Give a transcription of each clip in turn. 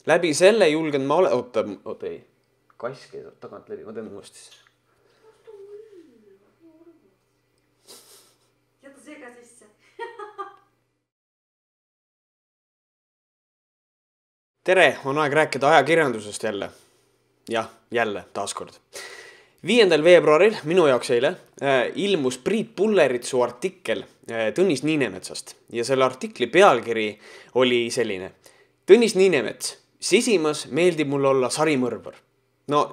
Läbi selle julgen ma oota ei. Kass käis tagant läbi, ma teen uuesti. Jäta see ka sisse. Tere, on aeg rääkida ajakirjandusest jälle. Jah, jälle, taaskord. 5. veebruaril, minu jaoks eile, ilmus Priit Pulleritsu artikkel Tõnis Niinemetsast. Ja selle artikli pealkiri oli selline. Tõnis Niinemets, sisimas meeldib mul olla sarimõrvar. No,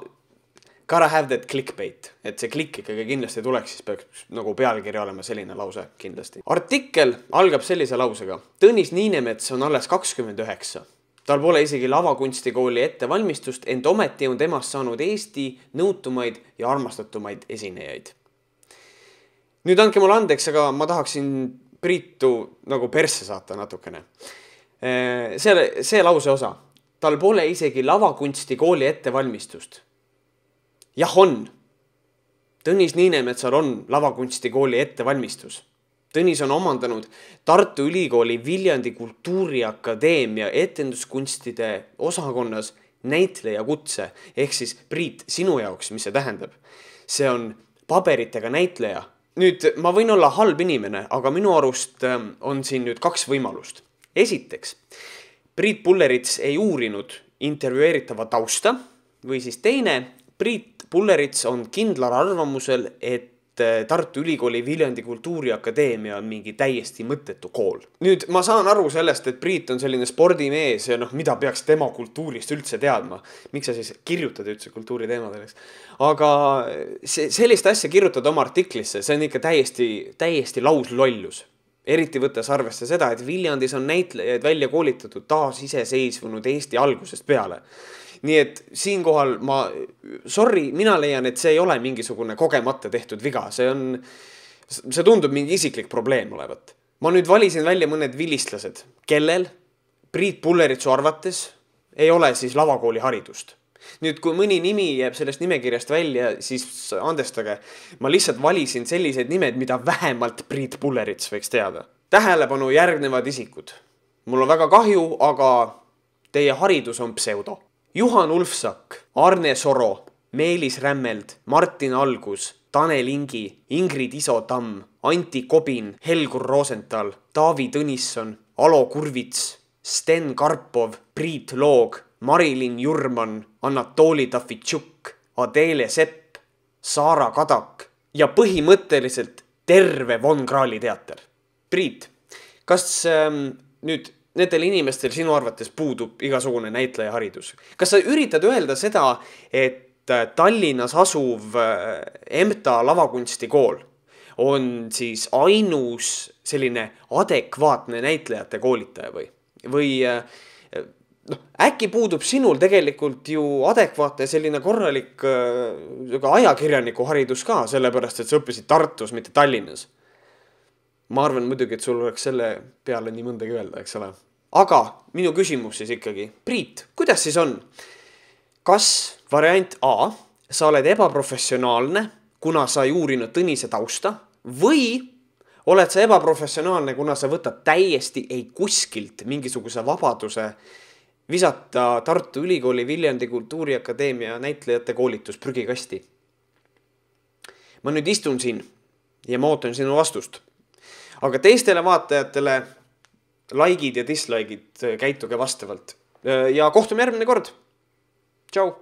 gotta have that clickbait. Et see klikk ikkagi kindlasti tuleks, siis peaks nagu pealkiri olema selline lause kindlasti. Artikkel algab sellise lausega. Tõnis Niinemets on alles 29. Tal pole isegi lavakunstikooli ettevalmistust, ent ometi on temast saanud Eesti nõutumaid ja armastatumaid esinejaid. Nüüd andke mulle andeks, aga ma tahaksin Priitu nagu persse saata natukene. See lause osa. Tal pole isegi lavakunstikooli ettevalmistust. Jah on. Tõnis Niinemetsal on lavakunstikooli ettevalmistus. Tõnis on omandanud Tartu Ülikooli Viljandi Kultuuriakadeemia etenduskunstide osakonnas näitleja kutse. Ehk siis Priit, sinu jaoks, mis see tähendab? See on paberitega näitleja. Nüüd, ma võin olla halb inimene, aga minu arust on siin nüüd 2 võimalust. Esiteks, Priit Pullerits ei uurinud intervjueeritava tausta või siis teine, Priit Pullerits on kindlal arvamusel, et Tartu Ülikooli Viljandi Kultuuriakadeemia on mingi täiesti mõttetu kool. Nüüd ma saan aru sellest, et Priit on selline spordimees ja mida peaks tema kultuurist üldse teadma. Miks sa siis kirjutad üldse kultuuriteemadeks? Aga sellist asja kirjutada oma artiklisse, see on ikka täiesti lauslollus. Eriti võttes arvesse seda, et Viljandis on näitlejaid välja koolitatud taas iseseisvunud Eesti algusest peale. Nii et siinkohal mina leian, et see ei ole mingisugune kogemata tehtud viga. See tundub mingi isiklik probleem olevat. Ma nüüd valisin välja mõned vilistlased, kellel Priit Pulleritsu arvates ei ole siis lavakooli haridust. Nüüd, kui mõni nimi jääb sellest nimekirjast välja, siis andestage. Ma lihtsalt valisin sellised nimed, mida vähemalt Priit Pullerits võiks teada. Tähelepanu järgnevad isikud. Mul on väga kahju, aga teie haridus on pseudo. Juhan Ulfsak, Arne Soro, Meelis Rämmeld, Martin Algus, Tanel Ingi, Ingrid Iso-Tamm, Anti Kobin, Helgur Rosenthal, Taavi Tõnisson, Alo Kurvits, Sten Karpov, Priit Loog, Marilyn Jurman, Anatoli Tafitšuk, Adele Sepp, Saara Kadak ja põhimõtteliselt terve Von Krahli teater. Priit, kas nüüd nendel inimestel sinu arvates puudub igasugune näitleja haridus? Kas sa üritad öelda seda, et Tallinnas asuv EMTA lavakunstikool on siis ainus selline adekvaatne näitlejate koolitaja või äkki puudub sinul tegelikult ju adekvaatne selline korralik ajakirjaniku haridus ka, sellepärast et sa õppisid Tartus, mitte Tallinnas? Ma arvan muidugi, et sul oleks selle peale nii mõndagi öelda, eks ole. Aga minu küsimus siis ikkagi. Priit, kuidas siis on? Kas variant A, sa oled ebaprofessionaalne, kuna sa ei uurinud Tõnise tausta, või oled sa ebaprofessionaalne, kuna sa võtad täiesti ei kuskilt mingisuguse vabaduse visata Tartu Ülikooli Viljandi Kultuuriakadeemia näitlejate koolitus prügikasti? Ma nüüd istun siin ja ma ootan sinu vastust. Aga teistele vaatajatele likeid ja dislikeid käituge vastavalt. Ja kohtume järgmine kord. Tšau!